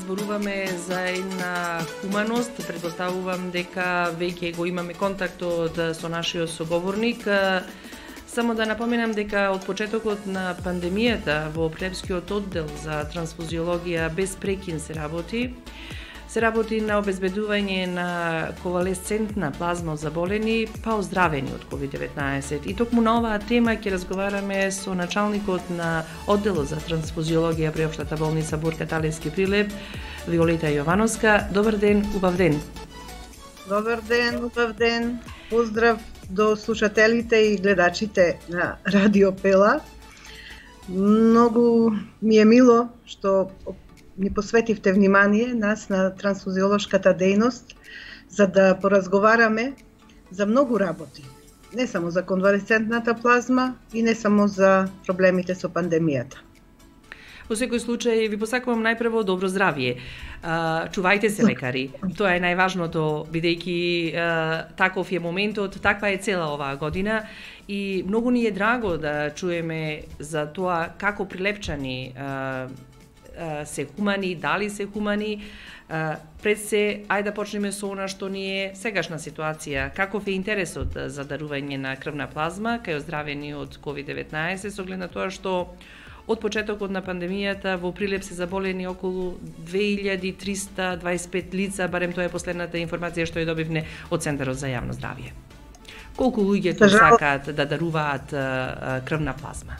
зборуваме за една хуманост, предпоставувам дека веќе го имаме контактот со нашиот соговорник. Само да напоменам дека од почетокот на пандемијата во Прилепскиот оддел за трансфузиологија без прекин се работи на обезбедување на конвалесцентна плазма од заболени па оздравени од COVID-19. И токму на оваа тема ќе разговараме со началникот на одделот за трансфузиологија при Општата болница Борка Талевски Прилеп, Виолета Јовановска. Добар ден, убав ден. Добар ден, убав ден. Поздрав до слушателите и гледачите на Радио Пела. Многу ми е мило што ни посветивте внимание нас на трансфузиолошката дејност за да поразговараме за многу работи. Не само за конвалесцентната плазма и не само за проблемите со пандемијата. Во секој случај ви посакувам најпрво добро здравје. Чувајте се, лекари. Тоа е најважното, бидејќи таков е моментот, таква е цела оваа година и многу ни е драго да чуеме за тоа како прилепчани се хумани, дали се хумани. Пред се, ајде да почнеме со она што ни е сегашна ситуација. Каков е интересот за дарување на крвна плазма кај оздравени од COVID-19, со оглед на тоа што од почетокот на пандемијата во Прилеп се заболени околу 2325 лица, барем тоа е последната информација што ја добивме од Центарот за јавно здравје. Колку луѓе тоа сакаат да даруваат крвна плазма?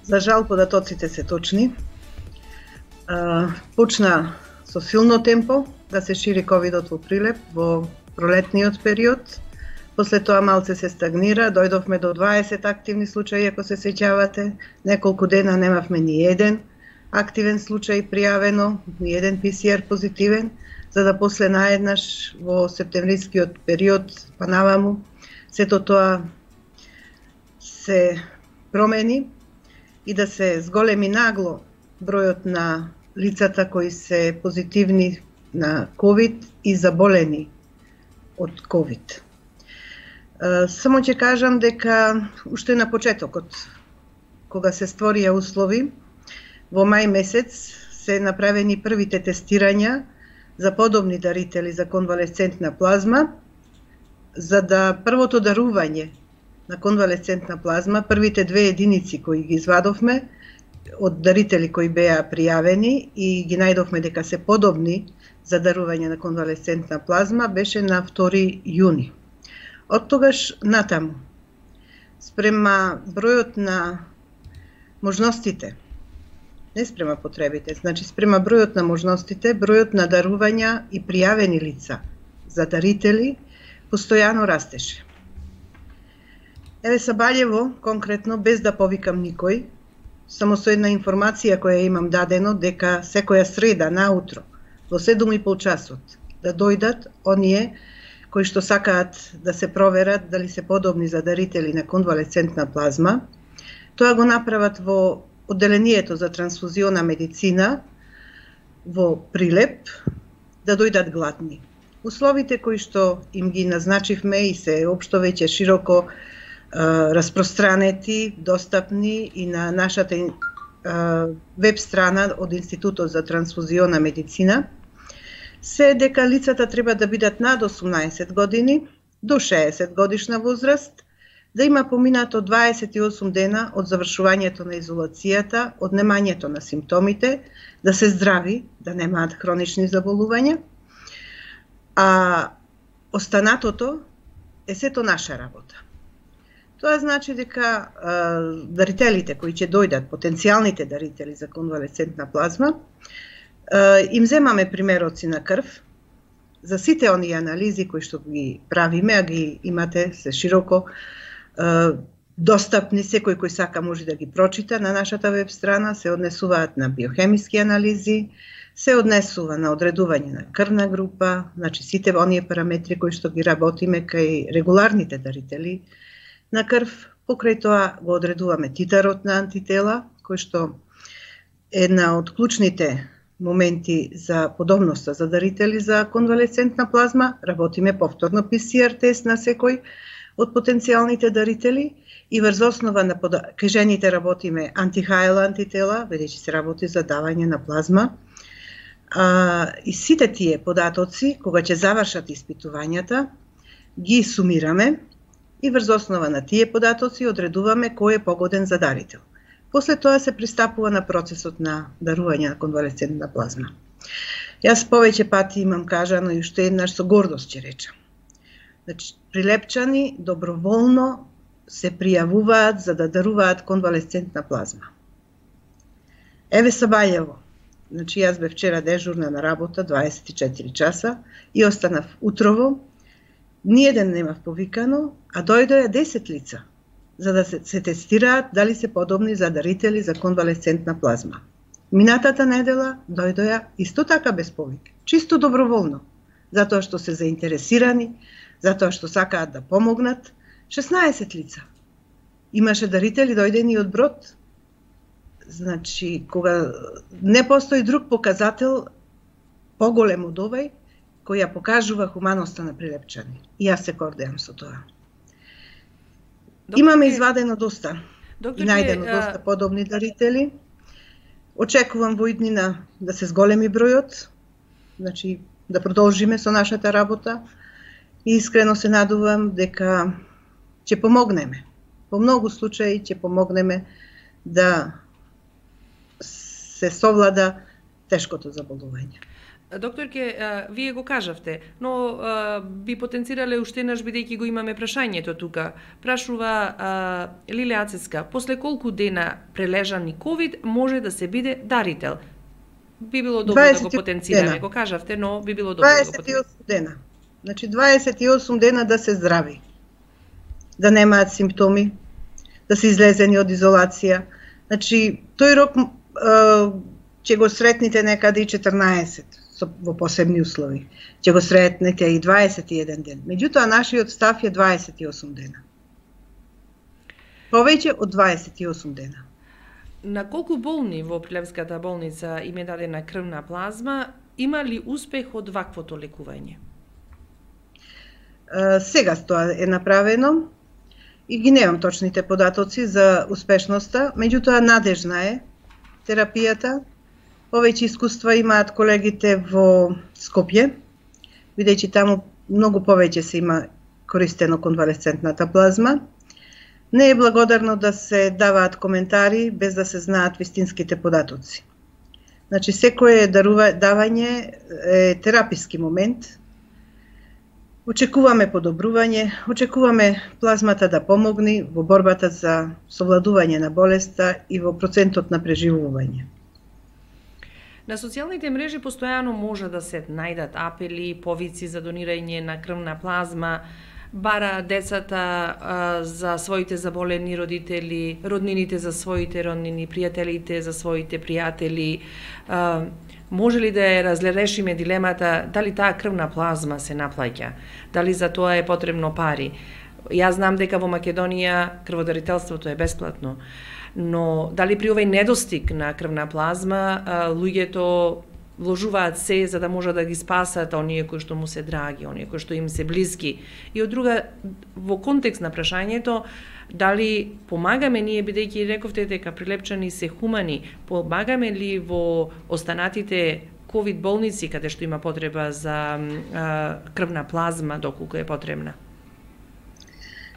За жал податоците се точни. Почна со силно темпо да се шири ковидот во Прилеп во пролетниот период. После тоа малце се стагнира, дојдовме до 20 активни случаи, ако се сеќавате. Неколку дена немавме ни еден активен случај пријавено, ни еден ПСР позитивен, за да после наеднаш во септемврискиот период па наваму сето тоа се промени и да се зголеми нагло бројот на лицата кои се позитивни на COVID и заболени од COVID. Само ќе кажам дека уште на почетокот, кога се створија услови, во мај месец се направени првите тестирања за подобни дарители за конвалесцентна плазма, за да првото дарување на конвалесцентна плазма, првите 2 единици кои ги извадовме, од дарители кои беа пријавени и ги најдовме дека се подобни за дарување на конвалесцентна плазма, беше на 2 јуни. Од тогаш натаму, спрема бројот на можностите, не спрема потребите, значи спрема бројот на можностите, бројот на дарувања и пријавени лица за дарители постојано растеше. Еве Сабаљево, конкретно, без да повикам никој, само со една информација која имам дадено, дека секоја среда наутро во 7:30 часот да дојдат оние кои што сакаат да се проверат дали се подобни за дарители на конвалесцентна плазма. Тоа го направат во одделението за трансфузиона медицина во Прилеп, да дојдат гладни. Условите кои што им ги назначивме и се општо веќе широко распространети, достапни и на нашата веб страна од Институтот за трансфузиона медицина, се дека лицата треба да бидат над 18 години, до 60 годишна возраст, да има поминато 28 дена од завршувањето на изолацијата, од немањето на симптомите, да се здрави, да немаат хронични заболувања, а останатото е сето наша работа. Тоа значи дека дарителите кои ќе дојдат, потенцијалните дарители за конвалесцентна плазма, им земаме примероци на крв за сите оние анализи кои што ги правиме, а ги имате се широко достапни, секој кој сака може да ги прочита на нашата веб страна, се однесуваат на биохемиски анализи, се однесува на одредување на крвна група, значи сите оние параметри кои што ги работиме кај регуларните дарители на крв. Покрај тоа го одредуваме титарот на антитела, кој што е една од клучните моменти за подобноста за дарители за конвалесцентна плазма. Работиме повторно ПСР тест на секој од потенцијалните дарители и врз основа на кај жените работиме антихајла антитела, бидејќи се работи за давање на плазма. И сите тие податоци, кога ќе завршат испитувањата, ги сумираме и врз основа на тие податоци одредуваме кој е погоден за дарител. После тоа се пристапува на процесот на дарување на конвалесцентна плазма. Јас повеќе пати имам кажано и уште еднаш со гордост ќе речам. Значи, Прилепчани доброволно се пријавуваат за да даруваат конвалесцентна плазма. Еве Сабајево. Значи, јас бев вчера дежурна на работа 24 часа и останав утрово. Ниеден немав повикано, а дојдоа 10 лица за да се тестираат дали се подобни за дарители за конвалесцентна плазма. Минатата недела дојдоа исто така без повик, чисто доброволно, затоа што се заинтересирани, затоа што сакаат да помогнат. 16 лица. Имаше дарители дојдени од Брод. Значи, кога не постои друг показател поголем од овој, кој ја покажува хуманоста на Прилепчани. И јас се гордеам со тоа. Имаме извадено доста и најдено доста подобни дарители. Очекувам во иднина да се зголеми бројот, значи да продолжиме со нашата работа и искрено се надувам дека ќе помогнеме. Во многу случаи ќе помогнеме да се совлада тешкото заболување. Докторке, вие го кажавте, но би потенцирале уште еднаш бидејќи го имаме прашањето тука. Прашува Лиле Ацеска, после колку дена прележани ковид може да се биде дарител? Би било добро да го потенцираме, го кажавте, но би било добро да го потенцираме. 28 дена. Значи 28 дена да се здрави. Да немаат симптоми, да се излезени од изолација. Значи, тој рок ќе го сретните некаде и 14 во посебни услови. Ќе го сретнете и 21 ден. Меѓутоа, нашиот став е 28 дена. Повеќе од 28 дена. На колку болни во Прилепската болница им е дадена крвна плазма, има ли успех од ваквото лекување? Сега тоа е направено и ги немам точните податоци за успешноста, меѓутоа надежна е терапијата. Повеќе искуства имаат колегите во Скопје, бидејќи таму многу повеќе се има користено конвалесцентната плазма. Не е благодарно да се даваат коментари без да се знаат вистинските податоци. Значи, секое давање е тераписки момент. Очекуваме подобрување, очекуваме плазмата да помогне во борбата за совладување на болеста и во процентот на преживување. На социјалните мрежи постојано може да се најдат апели, повици за донирање на крвна плазма, бара децата за своите заболени родители, роднините за своите роднини, пријателите за своите пријатели. Може ли да ја разрешиме дилемата дали таа крвна плазма се наплаќа, дали за тоа е потребно пари? Јас знам дека во Македонија крводарителството е бесплатно, но дали при овој недостиг на крвна плазма луѓето вложуваат се за да може да ги спасат оние кои што му се драги, оние кои што им се блиски? И од друга, во контекст на прашањето, дали помагаме ние, бидејќи рековте дека Прилепчани се хумани, помагаме ли во останатите ковид болници каде што има потреба за крвна плазма доколку е потребна?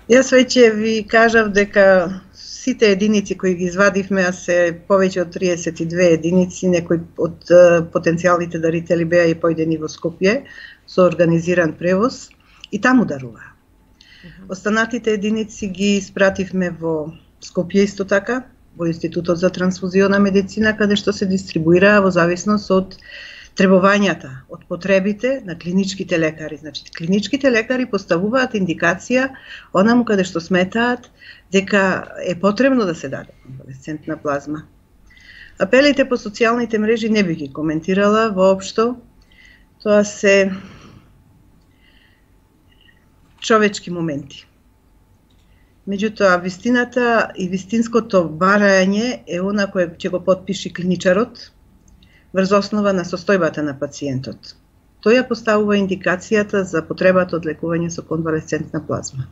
Јас веќе ви кажав дека сите единици кои ги извадивме, а се повеќе од 32 единици, некои од потенцијалните дарители беа и појдени во Скопје со организиран превоз и таму даруваа. Останатите единици ги испративме во Скопје исто така, во Институтот за трансфузиона медицина, каде што се дистрибуираа во зависност од требувањата, од потребите на клиничките лекари. Значи, клиничките лекари поставуваат индикација онаму каде што сметаат дека е потребно да се даде конвалесцентна плазма. Апелите по социјалните мрежи не би ги коментирала воопшто. Тоа се човечки моменти. Меѓутоа, вистината и вистинското барање е она кое ќе го потпиши клиничарот врз основа на состојбата на пациентот. Тој ја поставува индикацијата за потребата од лекување со конвалесцентна плазма.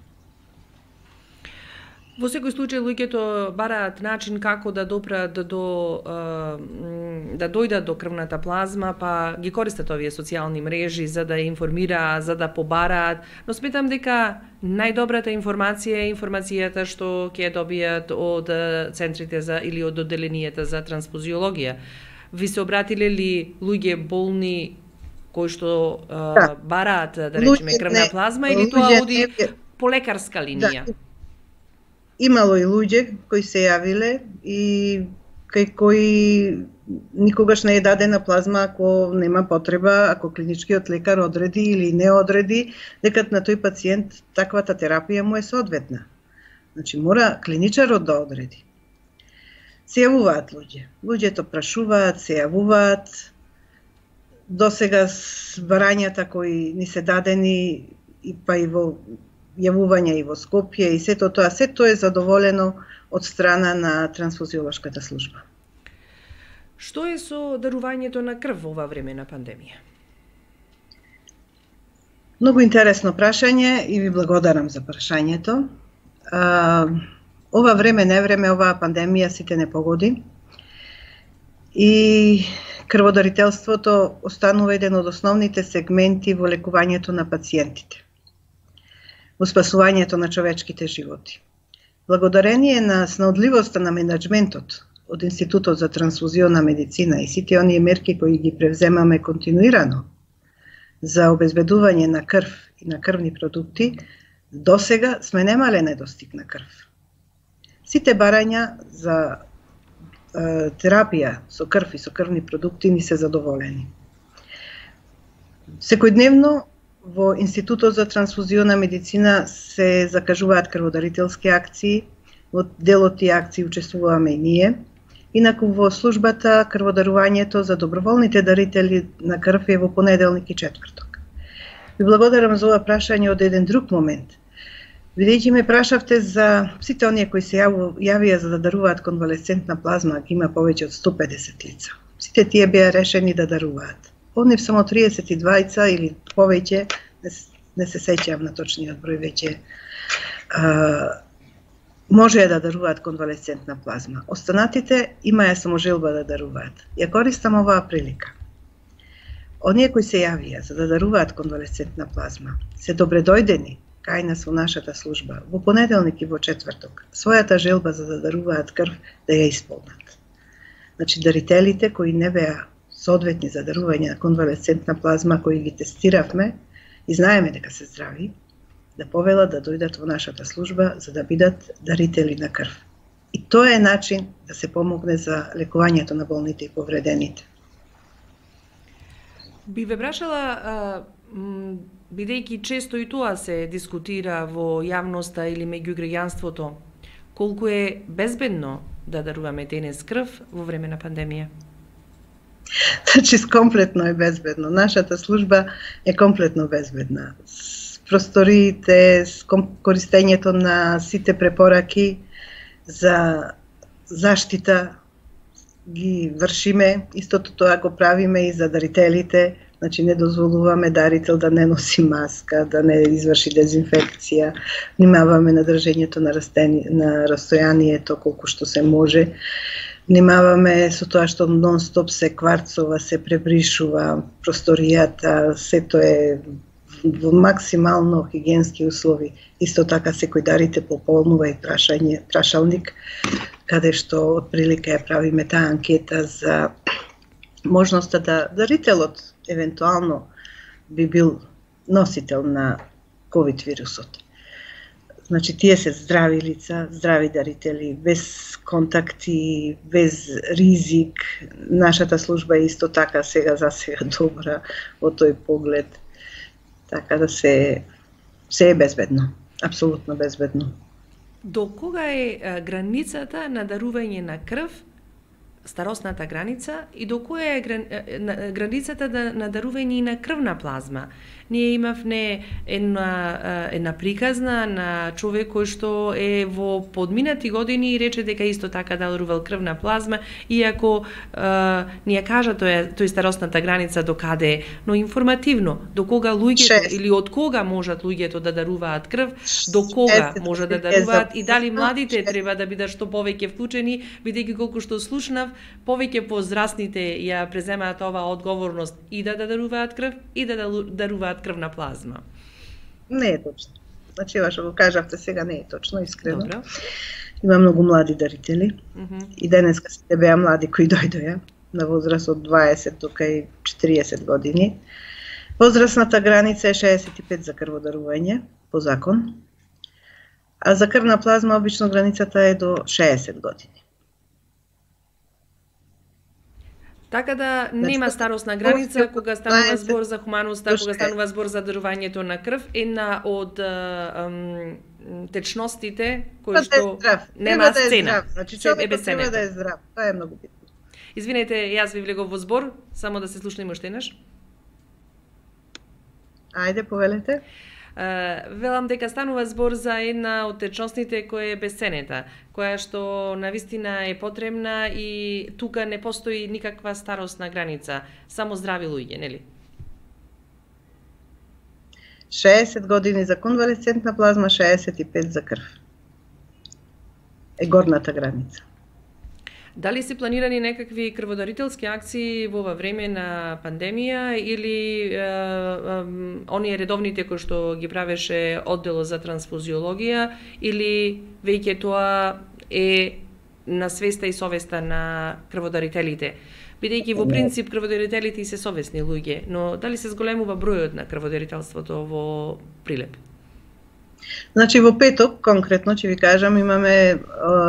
Во секој случај луѓето бараат начин како да допрат да дојдат до крвната плазма, па ги користат овие социјални мрежи за да информираат, за да побараат, но сметам дека најдобрата информација е информацијата што ќе добијат од центрите за или од одделенијата за трансфузиологија. Ви се обратиле ли луѓе болни кои што бараат, да речеме, крвна плазма или тоа оди по лекарска линија? Да. Имало и луѓе кои се јавиле и кај кои никогаш не е дадена плазма ако нема потреба, ако клиничкиот лекар одреди или не одреди, дека на тој пациент таквата терапија му е соодветна. Значи мора клиничарот да одреди. Се јавуваат луѓе. Луѓето прашуваат, се јавуваат. Досега барањата кои ни се дадени и па и во јавувања и во Скопје и сето тоа е задоволено од страна на трансфузиолошката служба. Што е со дарувањето на крв во ова време на пандемија? Многу интересно прашање и ви благодарам за прашањето. Ова време, невреме, оваа пандемија сите не погоди и крводарителството останува еден од основните сегменти во лекувањето на пациентите, во спасувањето на човечките животи. Благодарение на снаодливоста на менеджментот од Институтот за трансфузиона медицина и сите оние мерки кои ги превземаме континуирано за обезбедување на крв и на крвни продукти, досега сме немале недостиг на крв. Сите барања за терапија со крв и со крвни продукти ни се задоволени. Секојдневно во Институтот за трансфузиона медицина се закажуваат крводарителски акции, во дел од тие акции учествуваме и ние. Инаку во службата крводарувањето за доброволните дарители на крв е во понеделник и четврток. Ви благодарам за ова прашање од еден друг момент. Бидејќи ме прашавте за сите оние кои се јавија за да даруваат конвалесцентна плазма, ги има повеќе од 150 лица. Сите тие беа решени да даруваат. Од нив само 32 или повеќе, не се сеќавам на точниот број веќе, можеа да даруваат конвалесцентна плазма. Останатите имаја само желба да даруваат. Ја користам оваа прилика. Оние кои се јавија за да даруваат конвалесцентна плазма, се добредојдени кај нас во нашата служба, во понеделник и во четврток, својата желба за да даруваат крв да ја исполнат. Значи, дарителите кои не беа соодветни за дарување на конвалесцентна плазма, кои ги тестиравме и знаеме дека се здрави, да повелат да дојдат во нашата служба за да бидат дарители на крв. И тоа е начин да се помогне за лекувањето на болните и повредените. Би ве прашала, бидејќи често и тоа се дискутира во јавноста или меѓу граѓанството, колку е безбедно да даруваме денес крв во време на пандемија? Значи, комплетно е безбедно. Нашата служба е комплетно безбедна. Просториите, користењето на сите препораки за заштита ги вршиме, истото тоа го правиме и за дарителите, значи не дозволуваме дарител да не носи маска, да не изврши дезинфекција, внимаваме на држењето на растојанието колку што се може, внимаваме со тоа што нон-стоп се кварцова, се пребришува просторијата, сето е во максимално хигиенски услови. Исто така секој дарите пополнува и прашалник, каде што од прилика ја правиме таа анкета за можноста да дарителот евентуално би бил носител на COVID вирусот. Значи, тие се здрави лица, здрави дарители, без контакти, без ризик. Нашата служба е исто така сега добра во тој поглед. Така да се е безбедно, апсолутно безбедно. До кога е границата на дарување на крв старосната граница и до која е границата на дарување на крвна плазма. Ние имавме една приказна на човек кој што е во подминати години и рече дека исто така дарувал крвна плазма, иако ни ја кажа тој старосната граница до каде, но информативно, до кога луѓето или од кога можат луѓето да даруваат крв, до кога може да даруваат и дали младите треба да бидат што повеќе вклучени, бидејќи колку што слушнав, повеќе возрастните ја преземаат оваа одговорност и да даруваат крв и да даруваат крвна плазма. Не е точно. Значи, ова што го кажавте сега не е точно, искрено. Добро. Има многу млади дарители. И денеска сите беа млади кои дојдоја на возраст од 20 до кај 40 години. Возрастната граница е 65 за крводарување по закон. А за крвна плазма обично границата е до 60 години. Така да нема старосна граница кога станува збор за хуманоста, кога станува збор за дарувањето на крв, една од течностите кои што нема сцена. Значи човекот треба да е здрав. Тоа е многу битно. Извинете, јас ви влегов во збор, само да се слушнеме уште еднаш. Ајде, повелете. Велам дека станува збор за една од течностите која е бесценета, која што навистина е потребна и тука не постои никаква старосна граница, само здрави луѓе, нели? 60 години за конвалесцентна плазма, 65 за крв. Е горната граница. Дали се планирани некакви крводарителски акции во ова време на пандемија или оние редовните кои што ги правеше одделот за трансфузиологија или веќе тоа е на свеста и совеста на крводарителите? Бидејќи во принцип крводарителите се совесни луѓе, но дали се зголемува бројот на крводарителството во Прилеп? Значи во петок, конкретно, ќе ви кажам, имаме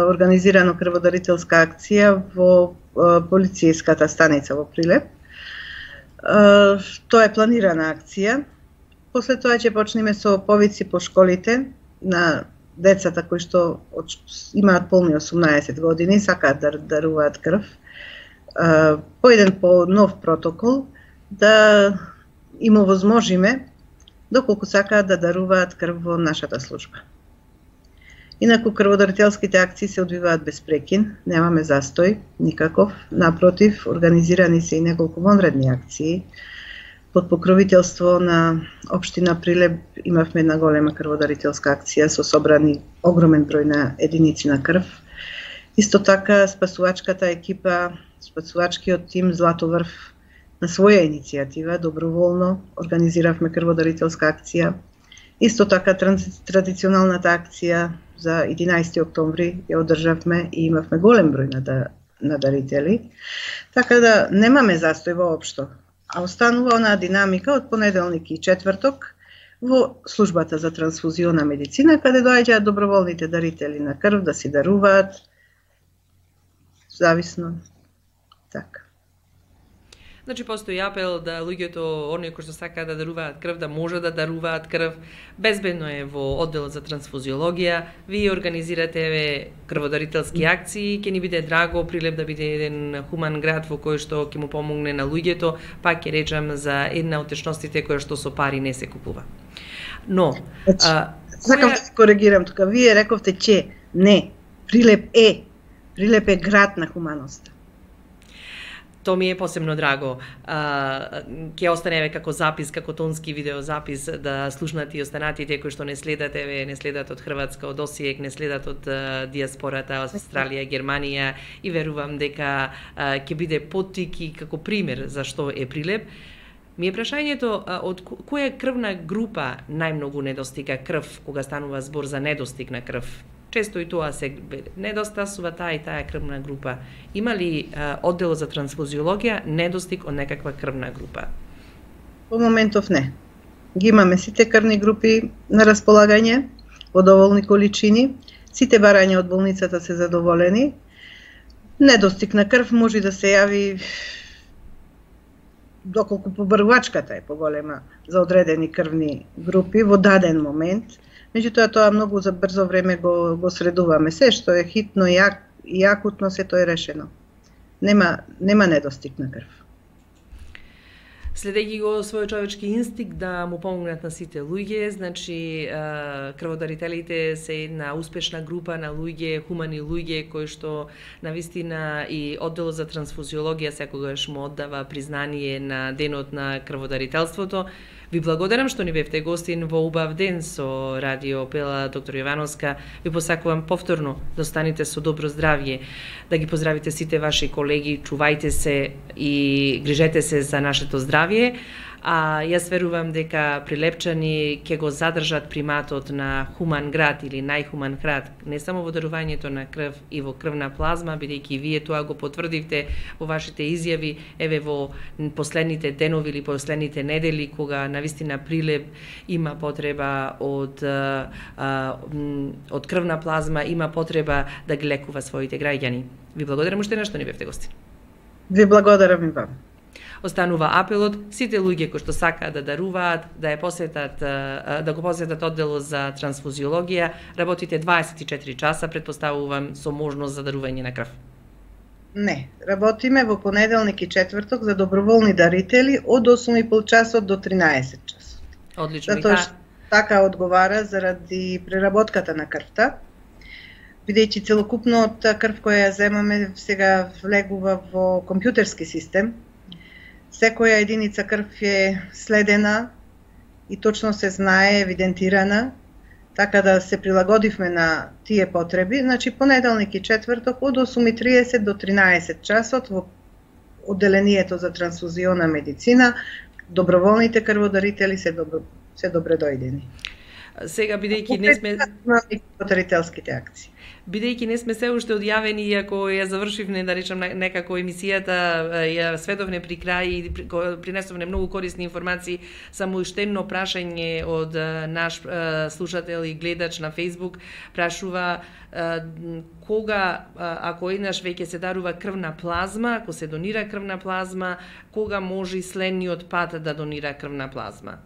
организирано крводарителска акција во полицијската станица во Прилеп. Тоа е планирана акција. После тоа ќе почнеме со повици по школите на децата кои што имаат полни 18 години, сакаат да даруваат крв. По еден нов протокол да им овозможиме доколку сакаат да даруваат крв во нашата служба. Инаку крводарителските акции се одвиваат без прекин, немаме застој никаков, напротив, организирани се и неколку вонредни акции. Под покровителство на општина Прилеп имавме една голема крводарителска акција со собрани огромен број на единици на крв. Исто така спасувачката екипа, спасувачкиот тим Златоврв на своја иницијатива, доброволно, организиравме крводарителска акција. Исто така традиционалната акција за 11 октомври ја одржавме и имавме голем број на дарители. Така да немаме застој воопшто, а останува онаа динамика од понеделник и четврток во службата за трансфузиона медицина, каде доаѓаат доброволните дарители на крв да си даруваат, зависно, така. Значи постои апел да луѓето, оние кои што сакаат да даруваат крв, да може да даруваат крв. Безбедно е во одделот за трансфузиологија. Вие организирате крводарителски акции, ќе ни биде драго Прилеп да биде еден хуман град во кој што ќе му помогне на луѓето, пак ќе речам за една од течностите која што со пари не се купува. Но сакам да се коригирам тука. Вие рековте че не, Прилеп е град на хуманоста. То ми е посебно драго. Ќе останеме како запис, како тонски видеозапис да слушнат и останатите кои што не следат од Хрватска, од Осијек, не следат од диаспората, од Австралија, Германија и верувам дека ќе биде поттик и како пример за што е Прилеп. Ми е прашањето од која крвна група најмногу недостига крв кога станува збор за недостиг на крв? Често и тоа се недостасува таа и таа крвна група. Има ли оддел за трансфузиологија недостиг од некаква крвна група? По моментов не. Ги имаме сите крвни групи на располагање во доволни количини. Сите барања од болницата се задоволени. Недостиг на крв може да се јави доколку побрвачката е поголема за одредени крвни групи во даден момент. Меѓутоа тоа многу за брзо време го средуваме. Се што е хитно и акутно, се тоа е решено. нема недостиг на крв. Следејќи го својот човечки инстинкт да му помогнат на сите луѓе, значи крводарителите се една успешна група на луѓе, хумани луѓе кои што навистина и одделот за трансфузиологија секогаш му оддава признание на денот на крводарителството. Ви благодарам што ни бевте гостин во убав ден со Радио Пела, доктор Јовановска. Ви посакувам повторно да останете со добро здравје, да ги поздравите сите ваши колеги, чувајте се и грижете се за нашето здравје. А јас верувам дека Прилепчани ќе го задржат приматот на хуман град или најхуман град, не само во дарувањето на крв и во крвна плазма, бидејќи вие тоа го потврдивте во вашите изјави, еве во последните денови или последните недели, кога навистина Прилеп има потреба од крвна плазма, има потреба да ги лекува своите граѓани. Ви благодарам уште на што ни бевте гости. Ви благодарам и вам. Останува апелот сите луѓе кои што сакаат да даруваат, да го посетат одделот за трансфузиологија. Работите 24 часа, претпоставувам, со можност за дарување на крв. Не, работиме во понеделник и четврток за доброволни дарители од 8,5 часот до 13 часот. Одлично. Затоа што така одговара заради преработката на крвта, бидејќи целокупната крв која ја земаме сега влегува во компјутерски систем. Секоја единица крв е следена и точно се знае, евидентирана, така да се прилагодивме на тие потреби. Значи, понеделник и четврток од 8:30 до 13 часот во одделението за трансфузиона медицина, доброволните крводарители се добре дојдени. Сега, бидејќи не сме дарителските акции. Бидејќи не сме се уште одјавени, иако ја завршивме, да речем, некако емисијата, ја сведовне при крај и принесовне многу корисни информации, само уште едно прашање од наш слушател и гледач на Facebook прашува кога, ако еднаш веќе се дарува крвна плазма, ако се донира крвна плазма, кога може следниот пат да донира крвна плазма?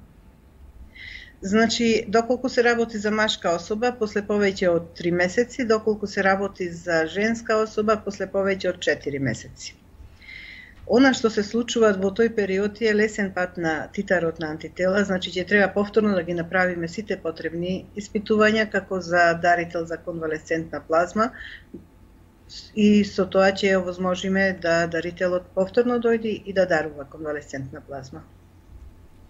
Значи, доколку се работи за машка особа, после повеќе од 3 месеци, доколку се работи за женска особа, после повеќе од 4 месеци. Она што се случува во тој период е лесен пат на титарот на антитела, значи ќе треба повторно да ги направиме сите потребни испитувања како за дарител за конвалесцентна плазма и со тоа ќе овозможиме да дарителот повторно дојде и да дарува конвалесцентна плазма.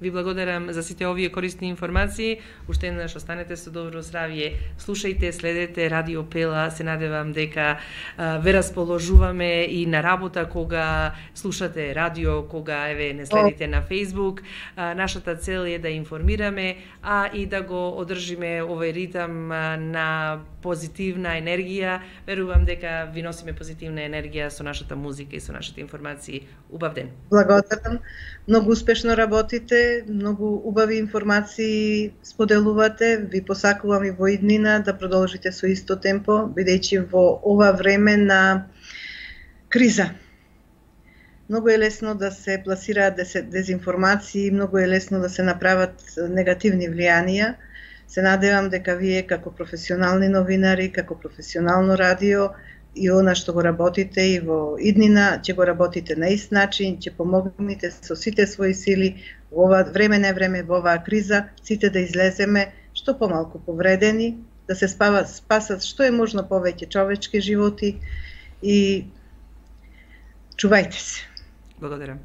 Ви благодарам за сите овие корисни информации. Уште еднаш останете со добро здравје. Слушајте, следете Радио Пела. Се надевам дека ве расположуваме и на работа кога слушате радио, кога еве не следите на Facebook. Нашата цел е да информираме, а и да го одржиме овој ритам на позитивна енергија. Верувам дека ви носиме позитивна енергија со нашата музика и со нашите информации. Убав ден. Благодарам. Многу успешно работите, многу убави информации споделувате. Ви посакувам и во иднина да продолжите со исто темпо, бидејќи во ова време на криза многу е лесно да се пласираат дезинформации, многу е лесно да се направат негативни влијанија. Се надевам дека вие како професионални новинари, како професионално радио и она што го работите и во иднина, ќе го работите на ист начин, ќе помогнете со сите своји сили во ова време во оваа криза, сите да излеземе што помалку повредени, да се спасат што е можно повеќе човечки животи и чувајте се. Благодарам.